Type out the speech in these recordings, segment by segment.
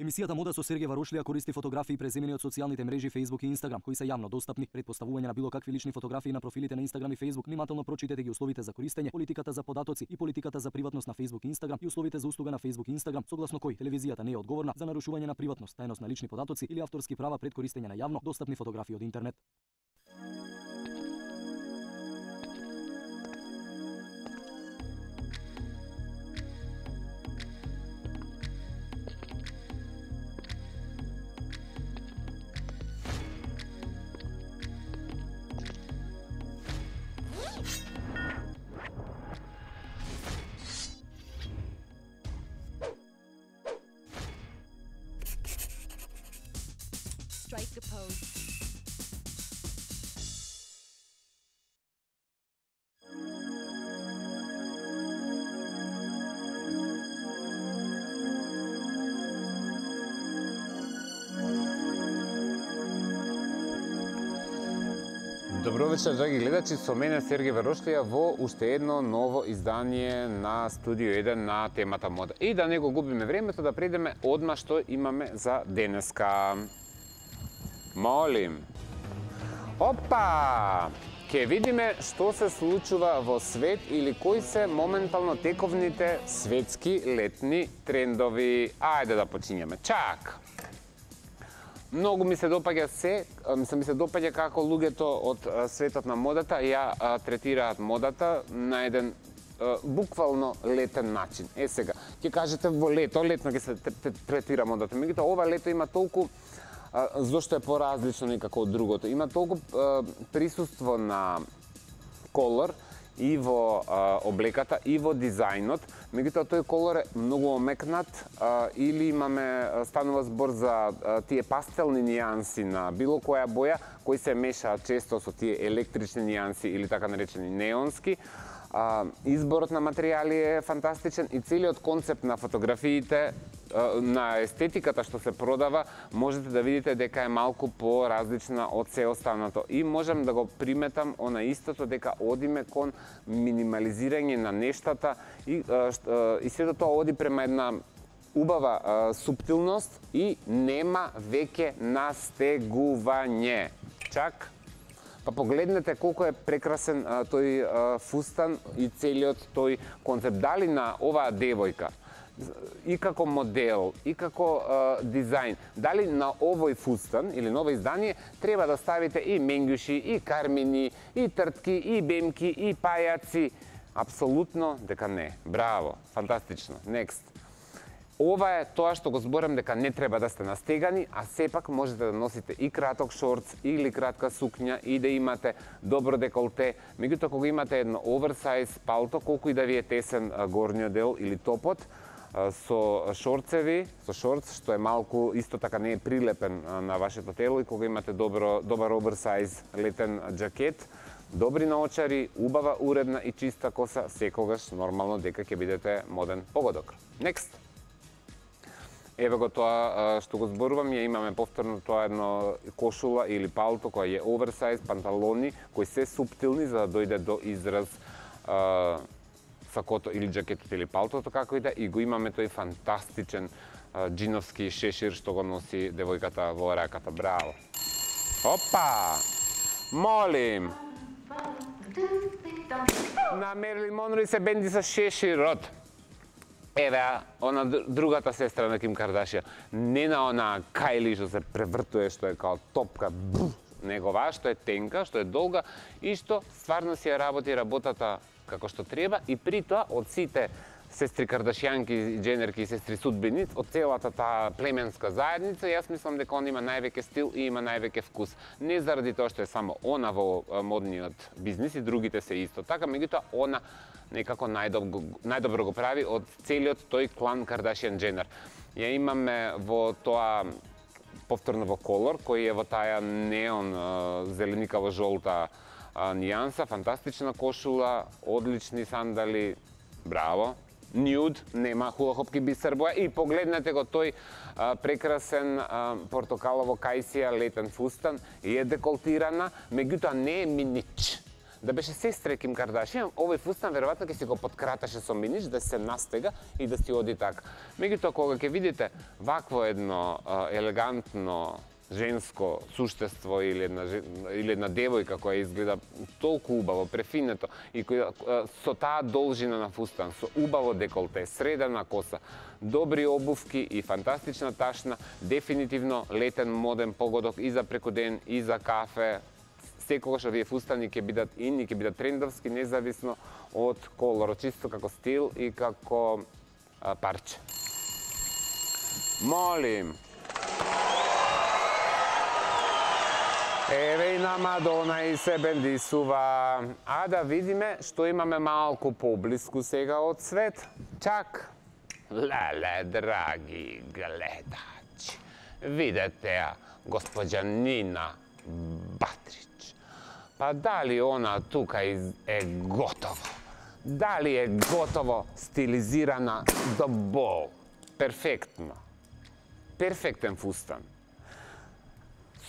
Емисијата Мода со Сергеј Варошлија користи фотографии преземени од социјалните мрежи Facebook и Instagram, кои се јавно достапни. Пред поставување на било какви лични фотографии на профилите на Instagram и Facebook, внимателно прочитете ги условите за користење, политиката за податоци и политиката за приватност на Facebook и Instagram и условите за услуга на Facebook и Instagram, согласно кои телевизијата не е одговорна за нарушување на приватност, тајност на лични податоци или авторски права пред користење на јавно достапни фотографии од интернет. Strike a pose. Добро вечер, драги гледачи, со мене Сергеј Варошлија во уште едно ново издание на Студио 1 на темата мода. И да не го губиме времето, да предеме одма што имаме за денеска. Молим. Опа! Ке видиме што се случува во свет или кои се моментално тековните светски летни трендови. Ајде да почињеме. Чак! Многу ми се допаѓа ми се допаѓа како луѓето од светот на модата ја третираат модата на еден буквално летен начин. Сега, ќе кажете во летно ќе се третира модата. Меѓутоа, ова лето има толку, зошто е поразлично некако од другото, има толку присуство на колор и во облеката, и во дизајнот. Меѓутоа, тој колор е многу омекнат или станува збор за тие пастелни нијанси на било која боја, кои се мешаат често со тие електрични нијанси или така наречени неонски. Изборот на материјали е фантастичен и целиот концепт на фотографиите, на естетиката што се продава, можете да видите дека е малку поразлична од се останато. И можам да го приметам она истото, дека одиме кон минимализирање на нештата и сето тоа оди према една убава суптилност и нема веќе настегување. Чак? Па погледнете колку е прекрасен тој фустан и целиот тој концепт. Дали на оваа девојка и како модел, и како дизајн, дали на овој фустан или на ово издание треба да ставите и менѓуши, и кармини, и тртки, и бемки, и пајаци? Апсолутно дека не. Браво, фантастично. Next. Ова е тоа што го зборам дека не треба да сте настегани, а сепак можете да носите и краток шорц или кратка сукња и да имате добро деколте. Меѓутоа, кога имате едно оверсайз палто, колку и да ви е тесен горниот дел или топот, со шорцеви, со шорц, што е малку, исто така не е прилепен на вашето тело, и кога имате добар оверсайз летен джакет, добри наочари, убава, уредна и чиста коса, секогаш нормално дека ќе бидете моден погодок. Next. Еве го тоа што го зборувам, ја имаме повторно тоа едно кошула или палто која е оверсайз, панталони кои се суптилни за да дојде до израз сакото или джакетот или палтото, како и да, и го имаме тој фантастичен джиновски шешир што го носи девојката во раката. Браво! Опа! Молим! На Мерлин Монро се бенди со шеширот. Еве, она другата сестра на Ким Кардашија, не на она Кайли што се превртуе, што е као топка, негова, што е тенка, што е долга и што стварно си ја работи работата како што треба, и при тоа од сите сестри Кардашјанки, Дженерки и сестри Судбини, од целата таа племенска заедница, јас мислам дека он има највеќе стил и има највеќе вкус. Не заради тоа што е само она во модниот бизнис, и другите се исто така, меѓутоа она некако најдобро го прави од целиот тој клан Кардашјан Дженер. Ја имаме во тоа повторно во колор, кој е во таа неон зеленикаво жолта нијанса, фантастична кошула, одлични сандали, браво. Нюд, нема хулахопки бисер боја, и погледнете го тој прекрасен портокалово кајсија летен фустан, и е деколтирана, меѓутоа не е минич. Да беше сестра Ким Кардашијан, овој фустан веројатно ќе си го подкраташе со минич да се настега и да си оди така. Меѓутоа кога ќе видите вакво едно елегантно женско суштество или една девојка која изгледа толку убаво, префинето и која со таа должина на фустан, со убаво деколте, средена коса, добри обувки и фантастична ташна, дефинитивно летен моден погодок и за преку ден, и за кафе. Секогаш овие фустани ќе бидат ин и ќе бидат трендовски, независно од колорот, чисто како стил и како парче. Молим. Еве и на Мадона и се бендисува. А да видиме што имаме малку поблиску сега од свет. Чак. Леле, драги гледачи, видете ја, госпоđа Нина Батрич. Па дали она тука е готово? Дали е готово стилизирана до бол? Перфектно. Перфектен фустан.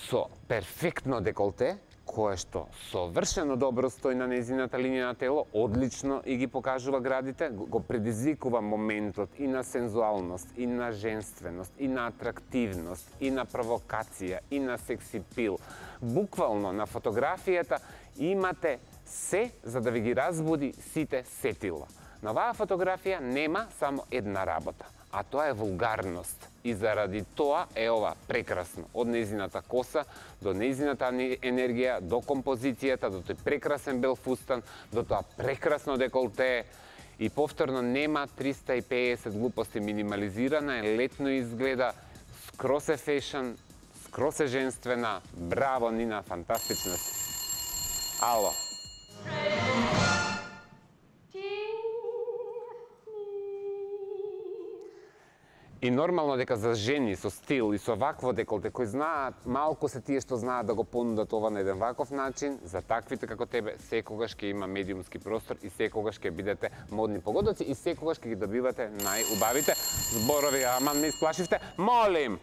Со перфектно деколте, кое што совршено добро стои на нејзината линија на тело, одлично и ги покажува градите, го предизвикува моментот и на сензуалност, и на женственост, и на атрактивност, и на провокација, и на секси пил. Буквално на фотографијата имате се за да ви ги разбуди сите сетила. На оваа фотографија нема само една работа, а тоа е вулгарност. И заради тоа е ова прекрасно. Од нејзината коса, до нејзината енергија, до композицијата, до тој прекрасен бел фустан, до тоа прекрасно деколте. И повторно нема 350 глупости, минимализирана е, летно изгледа, скрос е фешн, скрос е женствена. Браво, Нина, фантастична си. Ало. И нормално дека за жени со стил и со вакво деколте, кои знаат, малку се тие што знаат да го понудат ова на еден ваков начин, за таквите како тебе, секогаш ќе има медиумски простор и секогаш ќе бидете модни погодоци и секогаш ќе ги добивате најубавите зборови. Аман, ме исплашивте. Молим!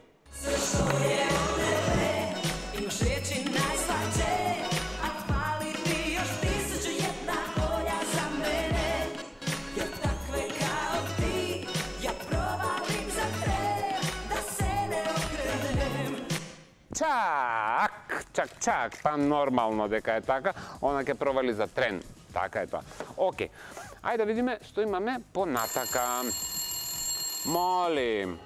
Чак, па нормално дека е така, она ќе провали за трен. Така е тоа. Океј, ајде да видиме што имаме понатака. Молим.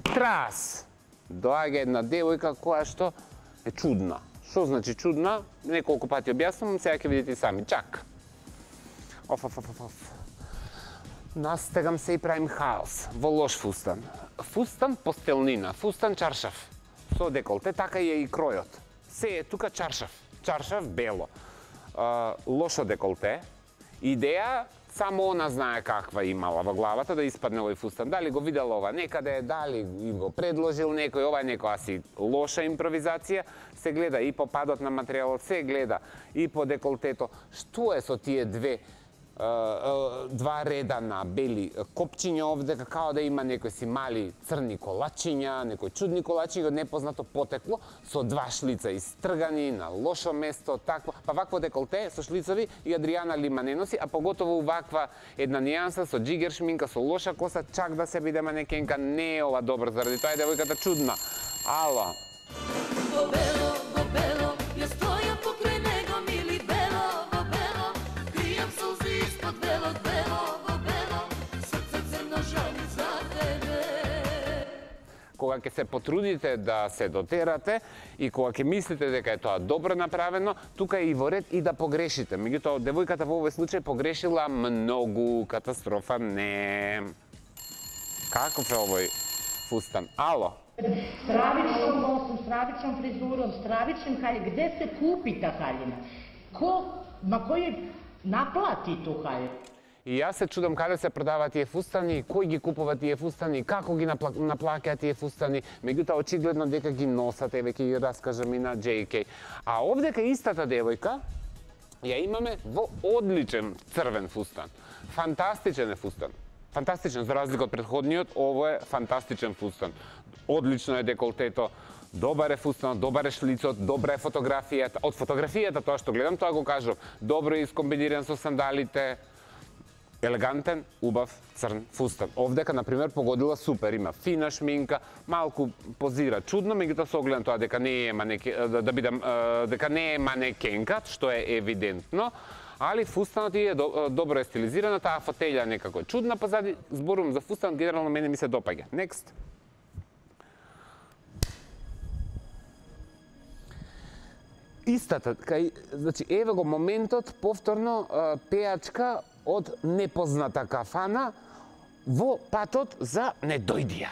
Трас! Доаѓа една девојка која што е чудна. Што значи чудна? Неколку пати објаснувам, сега ќе видите и сами. Чак. Настегам се и правим хаос во лош фустан. Фустан постелнина, фустан чаршав. Со деколте, така е и кројот. Се е тука чаршав. Чаршав бело. Лошо деколте. Идеја само она знае каква имала во главата да испадне овој фустан. Дали го видела ова некаде, дали им го предложил некој, ова е некоја си лоша импровизација, се гледа и по падот на материјалот, се гледа и по деколтето. Што е со тие два реда на бели копчиња овде, како да има некои си мали црни колачиња, некои чудни колачиња од непознато потекло, со два шлица истргани на лошо место, такво. Па вакво деколте со шлицови и Адријана Лима не носи, а поготово ваква една нијанса со джигер шминка, со лоша коса, чак да се биде манекенка, не е ова добро, заради тоа е девојката чудна. Ало. Кога ќе се потрудите да се дотерате и кога ќе мислите дека е тоа добро направено, тука е и во ред и да погрешите. Меѓутоа, девојката во овој случај погрешила многу, катастрофа не. Каков е овој фустан? Ало? Стравичnom nosom, стравичnom фризуром, стравичnim haljima. Gde se kupi ta haljina? Ko, ma koji naplati tu haljinu? И јас се чудам каде се продаваат тие фустани, кој ги купува тие фустани, како ги наплаќаат тие фустани, меѓутоа очигледно дека ги носат, еве ќе ги раскажам и на JK. А овдека истата девојка ја имаме во одличен црвен фустан. Фантастичен е фустан. Фантастичен, за разлика од претходниот, ово е фантастичен фустан. Одлично е деколтето, добар е фустанот, добар е шлицот, добра е фотографијата. Од фотографијата тоа што гледам, тоа го кажам. Добро е искомбиниран со сандалите. Елегантен, убав, црн фустан. Овдека, например, погодила супер, има фина шминка, малку позира чудно, меѓутоа со огледам тоа дека не е дека не е манекенка, што е евидентно, али фустанот е добро е стилизирана, таа фотелја некако е чудна позади, зборувам за фустан, генерално мене ми се допаѓа. Next. Истата, значи еве го моментот повторно пеачка од непозната кафана во патот за Недојдија.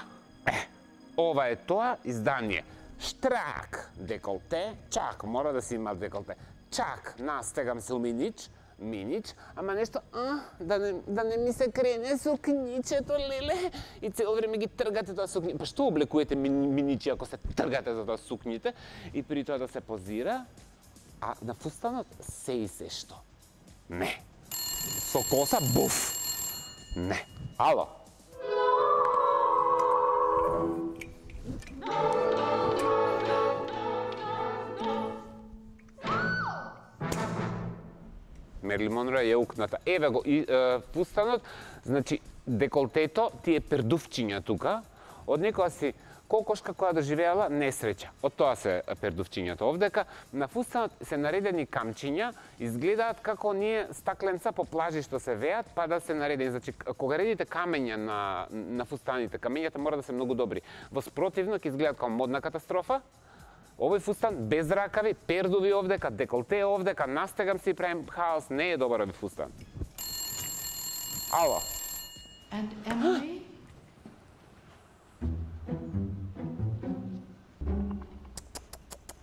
Ова е тоа издание. Штрак, деколте, чак, мора да си има деколте. Чак, настегам се у минич, ама нешто, да не ми се крене сукничето, леле, и цело време ги тргате тоа сукни. Па што облекувате миничи ако се тргате за тоа сукните, и при тоа да се позира, а на фустанот се и се што. Не. Со коса, буф. Не. Ало. Мерлин Монро е укната. Еве го, фустанот, значи, деколтето ти е пердувчиња тука, од некоја си кокошка која доживеала несреќа. Од тоа се пердувчињата овдека. На фустанот се наредени камчиња, изгледаат како ние стакленца по плажи што се веат, па да се наредени. Значи, кога редите камења на фустаните, камењата мора да се многу добри. Во спротивно ќе изгледаат како модна катастрофа. Овој фустан без ракави, пердуви овдека, деколте овдека, настегам си и правим хаос, не е добар овој фустан. Ало. And Emily?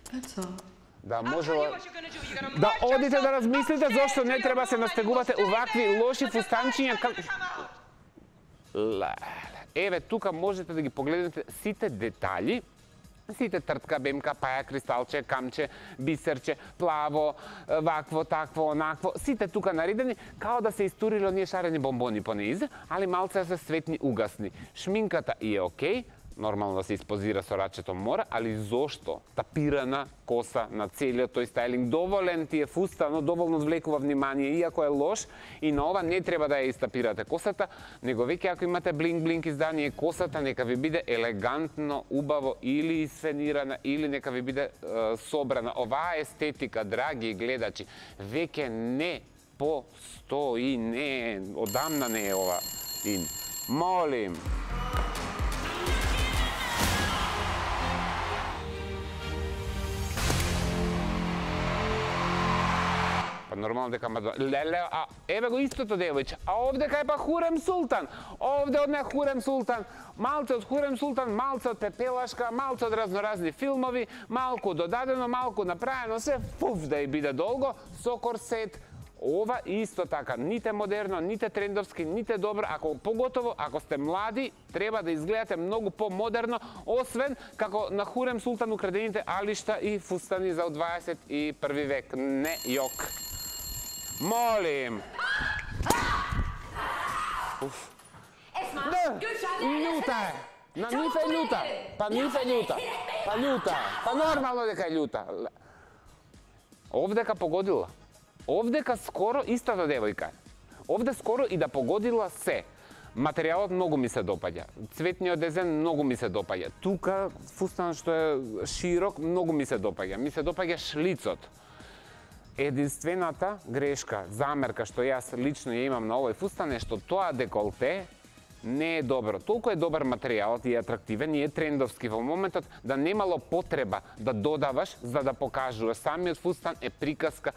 That's all. Да, можела... Да одите да размислите зошто не треба се настегувате увакви лоши фустанчиња. Еве, тука можете да ги погледнете сите детали, сите тртка, бемка, паја, кристалче, камче, бисерче, плаво, вакво, такво, онакво, сите тука наредени, као да се истурили оние шарени бомбони по низ, али малце се светни угасни. Шминката и е окей, нормално да се испозира со рачето мора, али зошто тапирана коса на целиот тој стајлинг, доволен ти е фустанот, доволно одвлекува внимание, иако е лош, и на ова не треба да ја истапирате косата, него веќе ако имате блинк-блинк издание, косата нека ви биде елегантно, убаво, или исфенирана, или нека ви биде собрана. Оваа естетика, драги гледачи, веќе не постои, не, одамна не е ова ин. Молим. Нормално дека леле, а еве го истото девојче, а овдека е па Хурем Султан. Овде од не Хурем Султан, малце од Хурем Султан, малце од Пепелашка, малце од разноразни филмови, малку додадено, малку направено, се фуф да и биде долго, со корсет. Ова исто така, ните модерно, ните трендовски, ните добро, поготово ако сте млади, треба да изгледате многу по-модерно, освен како на Хурем Султан украдените алишта и фустани за 21 век. Не јок. Молим! Уф. Да, љута е! На нив е љута! Па нив е љута! Па љута е! Па нормално дека е љута! Овдека погодила. Овдека скоро истата девојка. Овде скоро и да погодила се. Материјалот многу ми се допаѓа. Цветниот дизајн многу ми се допаѓа. Тука фустан што е широк многу ми се допаѓа. Ми се допаѓа шлицот. Единствената грешка, замерка што јас лично ја имам на овој фустан е што тоа деколте не е добро. Толку е добар материјалот и атрактивен и е трендовски во моментот да немало потреба да додаваш за да покажуваш. Самиот фустан е приказка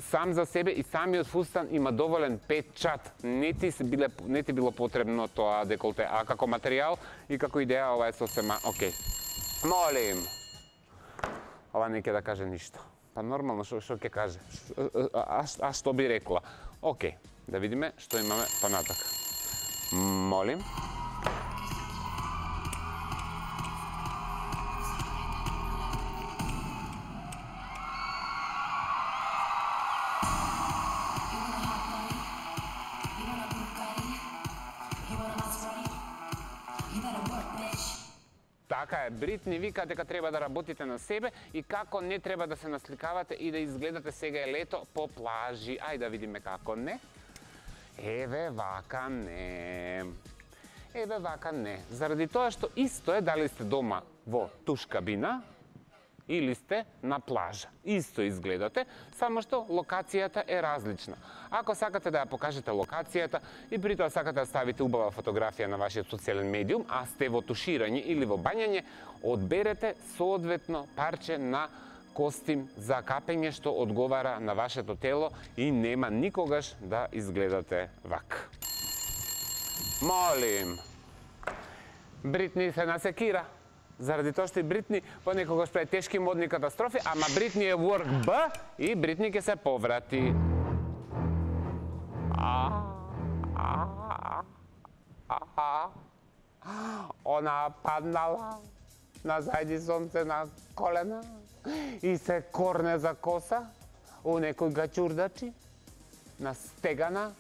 сам за себе и самиот фустан има доволен печат. Не ти било потребно тоа деколте, а како материјал и како идеја ова е сосема окей. Молим. Ова не ќе да каже ништо. Па нормално, што ќе каже? А што би рекла? Окей. Да видиме што имаме понатак. Молим. Така е, Бритни вика дека треба да работите на себе и како не треба да се насликавате и да изгледате сега е лето по плажи. Ај да видиме како не. Еве вака не. Еве вака не. Заради тоа што исто е дали сте дома во туш кабина или сте на плажа. Исто изгледате, само што локацијата е различна. Ако сакате да ја покажете локацијата и при тоа сакате да ставите убава фотографија на вашиот социјален медиум, а сте во туширање или во бањање, одберете соодветно парче на костим за капење што одговара на вашето тело и нема никогаш да изгледате вак. Молим. Бритни се насекира. Заради тоа што и Бритни понекогаш прави тешки модни катастрофи, ама Бритни е work Б и Бритни ќе се поврати. Она паднала на зајди сонце на колена и се корне за коса у некој гачурдачи на стегана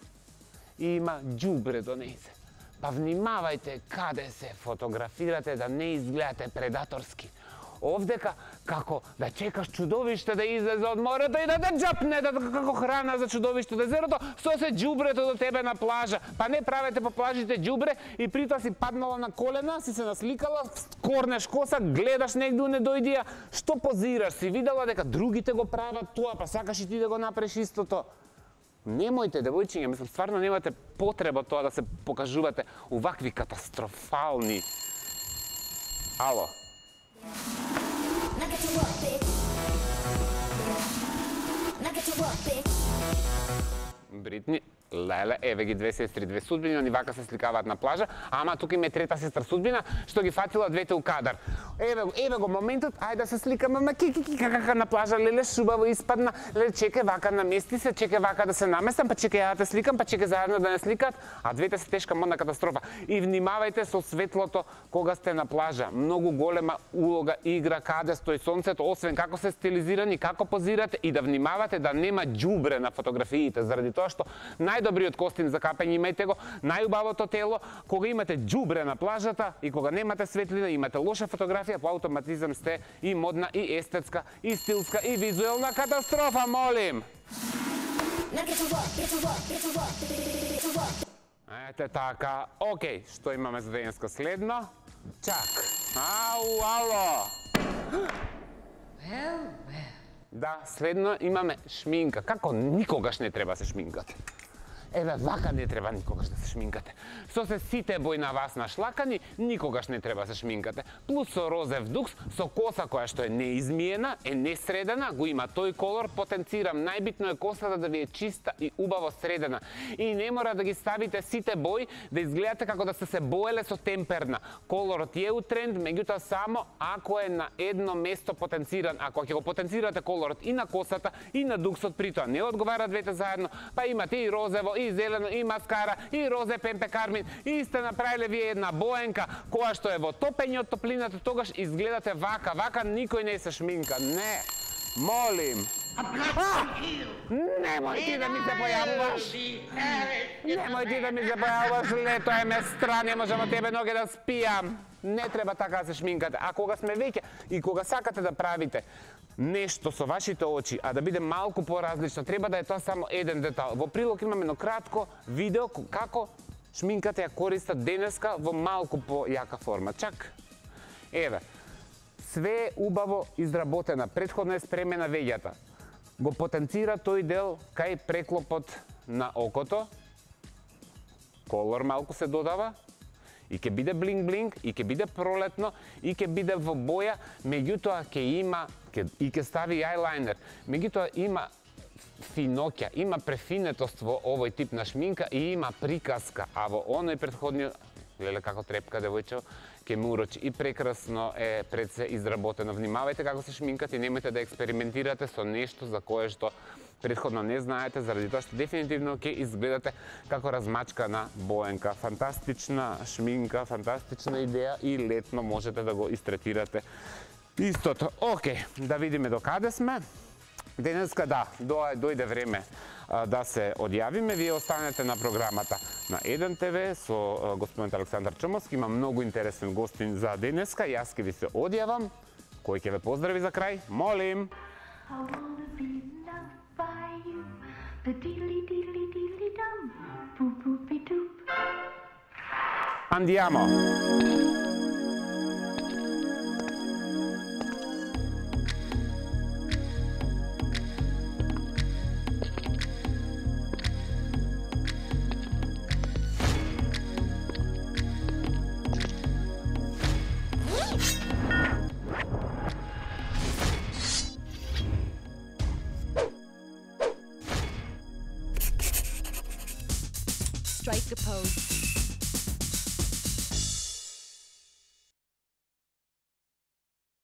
и има џубре до нејзе. Па внимавајте каде се фотографирате да не изгледате предаторски. Овдека како да чекаш чудовиште да излезе од морето и да те џапне како храна за чудовиште од езерото, со се џубрето до тебе на плажа. Па не правете по плажите џубре и при тоа си паднала на колена, си се насликала, корнеш коса, гледаш негде не дојдија, што позираш, си видела дека другите го прават тоа, па сакаш и ти да го направиш истото. Немојте, девојчиња, мислам, стварно немате потреба тоа да се покажувате увакви катастрофални. Ало. Бритни, леле, еве ги две сестри, две судбини, они вака се сликаваат на плажа, ама тука има трета сестра судбина, што ги фатила двете у кадар. Еве го моментот, ајде да се сликаме, ма ки кака на плажа, леле, шубаво испадна, леле, чекај вака намести се, чекај вака да се наместам, па чекај ја да те сликам, па чекај заедно да не сликат, а двете се тешка модна катастрофа. И внимавајте со светлото кога сте на плажа. Многу голема улога игра каде стои сонцето, освен како се стилизирани, како позирате и да внимавате да нема џубре на фотографиите, заради тоа што најдобриот костим за капење имајте го, најубавото тело, кога имате џубре на плажата и кога немате светлина, имате лоша фотографија, по автоматизам сте и модна, и естетска, и стилска, и визуелна катастрофа, молим! Ете така, окей, што имаме за денеска следно? Чак, ало! Да, следно имаме шминка. Како никогаш не треба се шминкате. Еве, вака не треба никогаш да се шминкате. Со се сите бои на вас нашлакани, никогаш не треба се шминкате. Плюс со розев дукс, со коса која што е неизмиена, е несредена, го има тој колор, потенцирам, најбитно е косата да ви е чиста и убаво средена. И не мора да ги ставите сите бои, да изгледате како да сте се боеле со темперна. Колорот е у тренд, меѓутоа само ако е на едно место потенциран. Ако ќе го потенцирате колорот и на косата, и на дуксот, при тоа не одговара двете заедно, па имате и розево, и зелено, и маскара, и розе пемпе кармин, и сте направиле вие една боенка која што е во топење од топлината, тогаш изгледате вака. Вака никој не се шминка. Не. Молим. Немој ти да ми се појавуваш. Немој ти да ми се појавуваш. Лето е местра, не можам од тебе ноге да спијам. Не треба така да се шминкате. А кога сме веќе и кога сакате да правите нешто со вашите очи, а да биде малку поразлично, треба да е тоа само еден детал. Во прилог имаме едно кратко видео како шминката ја користат денеска во малку појака форма. Чак, еве, све е убаво изработена, претходно е спремена веѓата. Го потенцира тој дел кај преклопот на окото, колор малку се додава, и ќе биде блинг-блинг, и ќе биде пролетно, и ќе биде во боја, меѓутоа ќе има, и ќе стави ајлайнер, меѓутоа има финоќа, има префинетост во овој тип на шминка и има приказка, а во оној претходниот, леле како трепка девојче, ќе ме урочи. И прекрасно е пред се изработено. Внимавајте како се шминкате и немојте да експериментирате со нешто за кое што претходно не знаете, заради тоа што дефинитивно ќе изгледате како размачкана Боенка. Фантастична шминка, фантастична идеја и летно можете да го истретирате истото. Океј, да видиме до каде сме. Денеска дојде време да се одјавиме. Вие останете на програмата на 1 ТВ со господин Александар Чомовски. Има многу интересен гостин за денеска. Јас ќе ви се одјавам. Кој ќе ве поздрави за крај? Молим! Andiamo! Strike a pose.